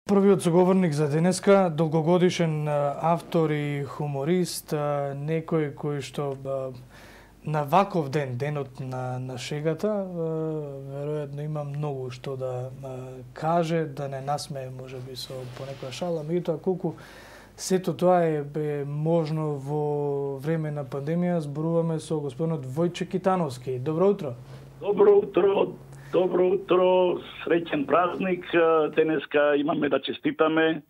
Првиот соговорник за денеска, долгогодишен автор и хуморист, некој кој што на ваков ден, денот на шегата, веројатно има многу што да каже, да не насмее можеби со понекоја шала, меѓутоа колку сето тоа е можно во време на пандемија. Зборуваме со господинот Војче Китановски. Добро утро. Добро утро. Добро утро, среќен празник. Денеска имаме да честитаме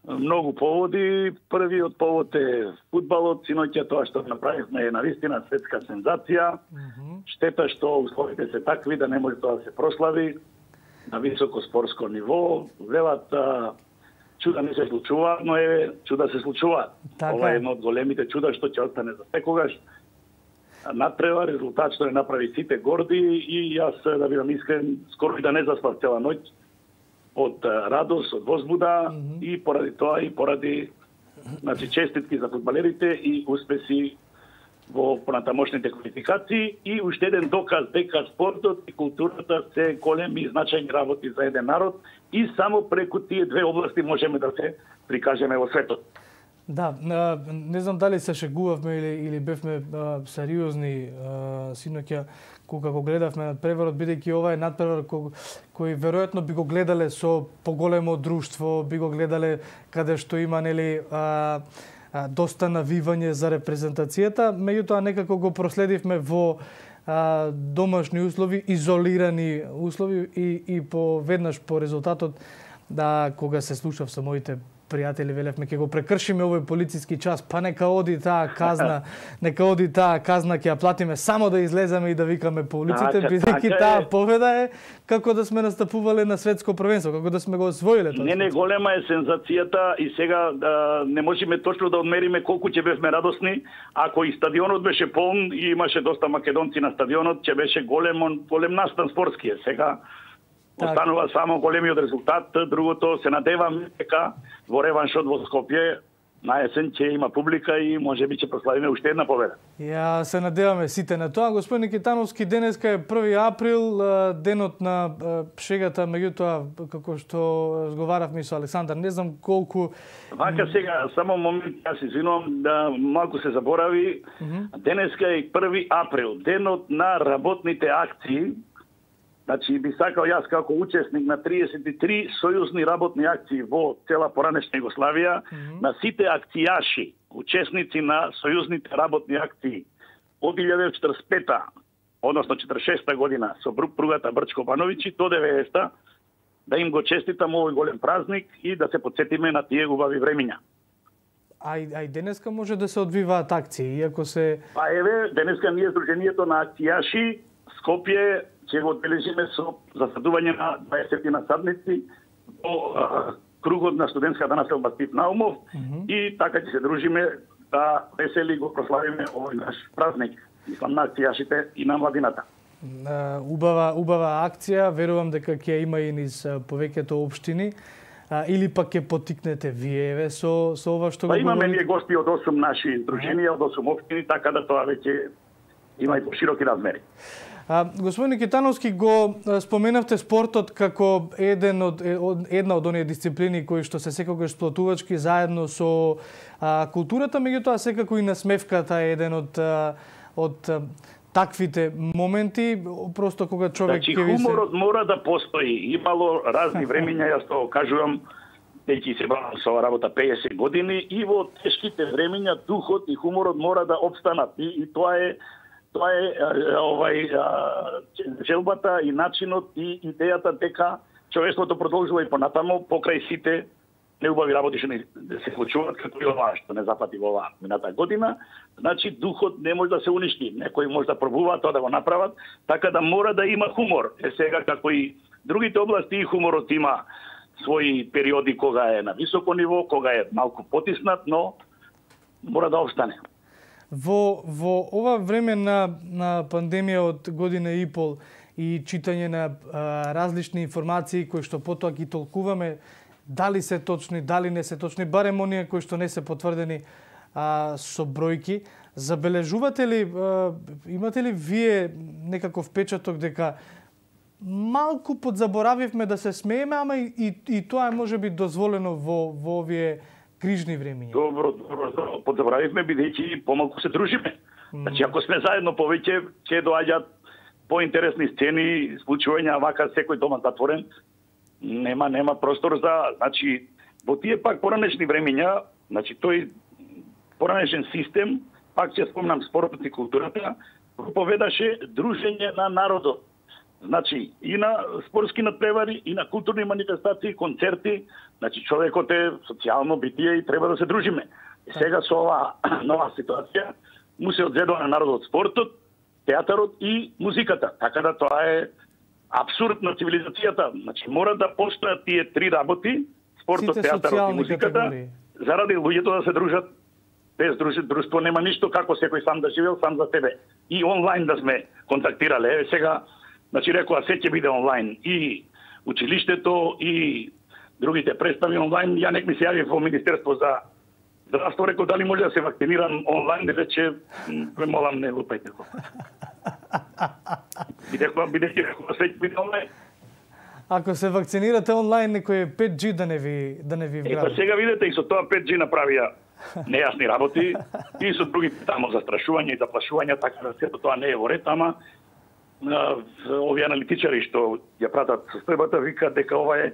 многу поводи. Првиот повод е фудбалот. Синоќа тоа што направивме е навистина светска сензација. Штета што условите се такви да не може тоа да се прослави на високо спортско ниво. Велат чуда не се случува, но чуда се случува. Ова е едно од големите чуда што ќе остане за секогаш. Натпрева резултат што не направи сите горди и јас, да бидам искрен, скоро и да не заспав цела ноќ од радост, од возбуда и поради тоа и поради честитки за фудбалерите и успеси во понатамошните квалификации и уште еден доказ дека спортот и културата се големи и значајни работи за еден народ и само преку тие две области можеме да се прикажеме во светот. Да, не знам дали се шегувавме или бевме сериозни синоќа кога го гледавме надпреварот, бидејќи ова е надпревар кој веројатно би го гледале со поголемо друштво, би го гледале каде што има доста навивање за репрезентацијата, меѓутоа некако го проследивме во домашни услови, изолирани услови и веднаш по резултатот кога се слушав со моите пријатели, велевме ќе го прекршиме овој полициски час, па нека оди таа казна, ќе ја платиме само да излеземе и да викаме по улиците, бидејќи таа победа е како да сме настапувале на светско првенство, како да сме го освоиле тоа. Не, голема е сензацијата и сега не можеме точно да одмериме колку ќе бевме радосни, ако и стадионот беше полн и имаше доста македонци на стадионот, ќе беше голем настан спортски. Сега останува само големиот резултат, другото се надевам дека во реваншот во Скопје на есен ќе има публика и можеби ќе прославиме уште една победа. Ја се надеваме сите на тоа. Господин Китановски, денеска е 1 април, денот на шегата, меѓутоа како што разговаравме со Александар, не знам колку. Вака сега, само момент, јас извинувам да малку се заборави. Денеска е 1 април, денот на работните акции. Значи, би сакал јас како учесник на 33 сојузни работни акции во цела поранешна Југославија, на сите акцијаши, учесници на сојузните работни акции од 1945, односно 46 година со пругата Брчко-Бановичи до 90-та, да им го честитам овој голем празник и да се потсетиме на тие убави времиња. А и денеска може да се одвиваат акции, иако се... Денеска ние Сдруженијето на акцијаши Скопје ќе го одбележиме со засадување на 20 насадници во кругот на студентската населба Стив Наумов и така ќе се дружиме да весели го прославиме овој наш празник, мислам на акцијашите и на младината. Убава акција, верувам дека ќе има и низ повеќето општини, или пак ќе поттикнете вие со ова што го говорите? Имаме ние гости од 8 наши здруженија, од 8 општини, така да тоа веќе има и пошироки размери. Господин Китановски, го споменавте спортот како една од оние дисциплини кои што се секогаш сплотувачки заедно со културата, меѓутоа секако и насмевката е еден од таквите моменти, просто кога човек ќе ви се... Хуморот мора да постои. Имало разни времиња, јас тоа кажувам, дејќи се бавам со работа 50 години и во тешките времиња духот и хуморот мора да опстанат и тоа е желбата и начинот и идејата дека човештвото продолжува и понатамо покрај сите неубави работи што се случуваат, како и ова што не запати во оваа мината година. Значи духот не може да се уништи. Некои може да пробуваат тоа да го направат, така да мора да има хумор. Сега како и другите области и хуморот има своји периоди кога е на високо ниво, кога е малку потиснат, но мора да обстане. Во ова време на пандемија од година и пол и читање на различни информации кои што потоа ги толкуваме, дали се точни, дали не се точни, барем оние кои што не се потврдени со бројки, забележувате ли, имате ли вие некаков впечаток дека малку подзаборавивме да се смееме, ама и тоа е можеби дозволено во овие крижни времиња. Добро, подзаборавивме бидејќи помалку се дружиме. Значи, ако сме заедно повеќе, ќе доаѓаат поинтересни сцени, случувања, вака секој дома затворен, нема простор за, значи, во тие пак поранешни времиња, значи тој поранешен систем, пак ќе спомнам спортот и културата, проповедаше дружење на народот. Значи, и на спортски надпревари, и на културни манифестации, концерти, значи човекот е социјално битие и треба да се дружиме. И сега со оваа нова ситуација му се одзедува на народот спортот, театарот и музиката. Така да тоа е абсурд на цивилизацијата. Значи, мора да постојат тие три работи, спортот, театарот и музиката, категории, заради луѓето да се дружат. Без друштво нема ништо, како секој сам да живеел, сам за себе. И онлайн да сме контактирале. Еве сега, значи рекоа, се ќе биде онлайн. И училиштето, и другите представи онлайн. Ја нек ми се јави во Министерство за здравство, рекоа дали може да се вакцинирам онлайн, рече, ме молам, не лупајте го. Бидејќи рекоа, се ќе биде онлайн. Ако се вакцинирате онлайн, некој 5G да не ви вгради. Па сега видите, и со тоа 5G направија нејасни работи, и со другите тамо застрашување и заплашувања, така да сето тоа не е во ред, ама овие аналитичари што ја пратат состојбата викаат дека ова е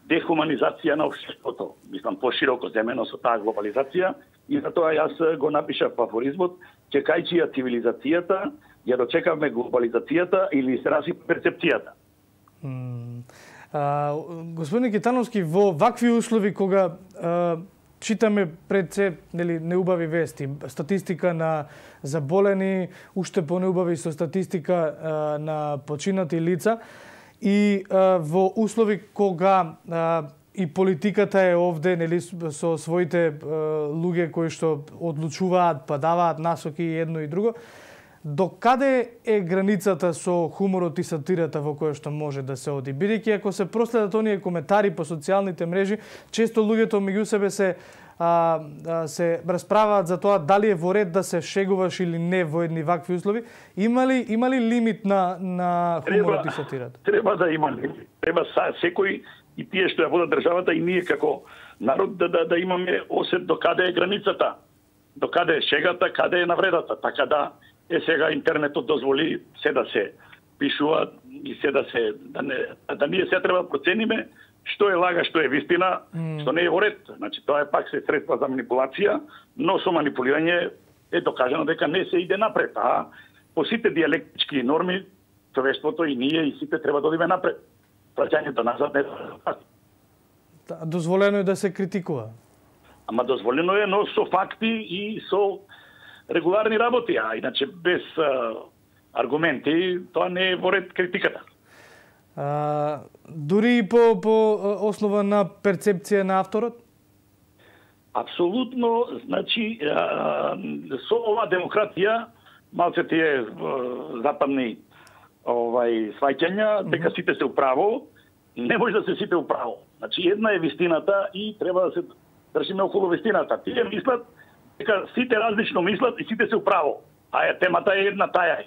дехуманизација на општеството. Мислам, пошироко земено со таа глобализација, и затоа јас го напишав во афоризмот, чекајќи ја цивилизацијата, ја дочекавме глобализацијата или се расипа перцепцијата. Господин Китановски, во вакви услови кога читаме пред се неубави вести, статистика на заболени, уште понеубави со статистика на починати лица, и во услови кога и политиката е овде со своите луѓе кои што одлучуваат, па даваат насоки едно и друго, до каде е границата со хуморот и сатирата во која што може да се оди? Бидејќи ако се проследат оние коментари по социјалните мрежи, често луѓето меѓу себе се расправаат за тоа дали е во ред да се шегуваш или не во едни вакви услови. Има ли лимит на хуморот и сатирата? Треба да има лимит. Треба секој и тие што ја водат државата и ние како народ да имаме осет до каде е границата. До каде е шегата, каде е навредата. Така да сега интернетот дозволи се да се пишува и се да се да ние се треба да процениме што е лага, што е вистина, што не е во ред. Значи тоа е пак се средства за манипулација, но со манипулирање е докажано дека не се иде напред. А по сите диалектички норми, човештвото и ние и сите треба да одиме напред. Праќањето назад не е дозволено е да се критикува. Ама дозволено е, но со факти и со регуларни работи, а иначе без аргументи, тоа не е во ред критиката. Дури и по основа на перцепција на авторот? Апсолутно, значи, со ова демократија, малце тие западни сваќања, дека сите се управо, не може да се сите управо. Значи, една е вистината и треба да се држиме околу вистината. Тие мислат дека сите различно мислат и сите се управо. А темата е една, таја е.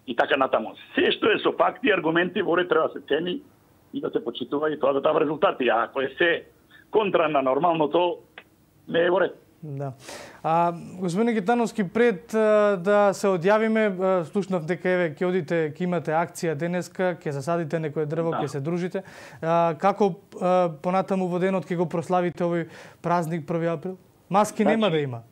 И така натаму. Се што е со факти и аргументи во ред треба да се цени и да се почитува и тоа да дава резултати. А ако е се контра на нормалното, не е во ред. Да. Господин Китановски, пред да се одјавиме, слушнав дека еве ќе одите, ќе имате акција денеска, ќе засадите некое дрво, ќе се дружите. Како понатаму во денот ќе го прославите овој празник 1 април? Маски нема да има.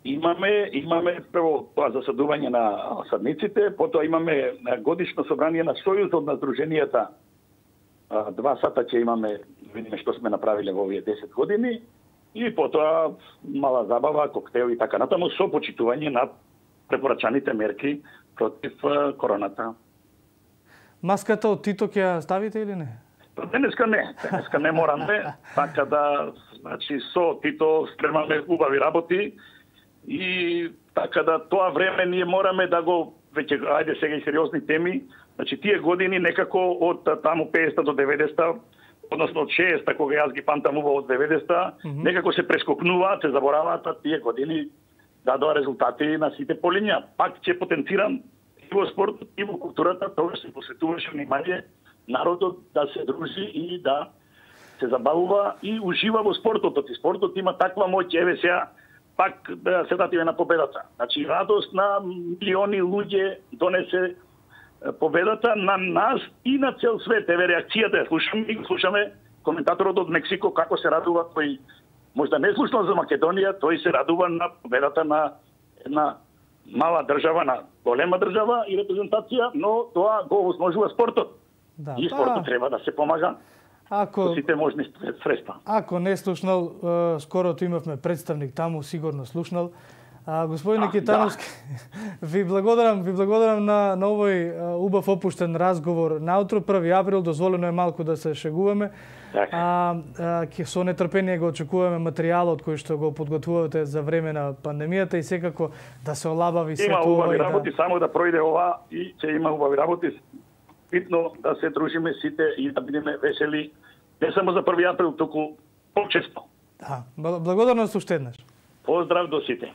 Имаме прво тоа засадување на садниците, потоа имаме годишно собрание на Сојузот на здруженијата. 2 сата ќе имаме, видиме што сме направиле во овие 10 години, и потоа мала забава, коктел и така натаму, со почитување на препорачаните мерки против короната. Маската од Тито ќе ја ставите или не? Денеска не morаме, така да, значи, со Тито спремаме убави работи, и така да тоа време ние мораме да го, веќе ајде сега и сериозни теми, значи тие години некако од таму 50 до 90, односно од 60 кога јас ги памтам убаво од 90, некако се прескокнуваат, се забораваат, тие години дадоа резултати на сите полиња. Пак ќе потенцирам и во спортот, и во културата, тоа се посветуваше внимание народот да се дружи и да се забавува и ужива во спортот. И спортот има таква моќ, еве сега пак да се датиме на победата. Значи радост на милиони луѓе донесе победата на нас и на цел свет. Еве реакцијата, слушаме коментаторот од Мексико како се радува, тој можда не слушнал за Македонија, тој се радува на победата на една мала држава, на голема држава и репрезентација, но тоа го осможува спортот. Да, и спортот треба да се помага со сите можни средства. Ако не слушнал, скорото имавме представник таму, сигурно слушнал. Господине Китановски, ви благодарам на овој убав опуштен разговор наутро, 1 април, дозволено е малку да се шегуваме. Со нетрпение го очекуваме материјалот кој што го подготвувате за време на пандемијата и секако да се олабави се тоа. Има убави работи, само да пројде ова и ќе има убави работи. Битно да се дружиме сите и да бидеме весели, не само за 1 април, туку почесто. Да, благодарност уште еднаш. Поздрав до сите.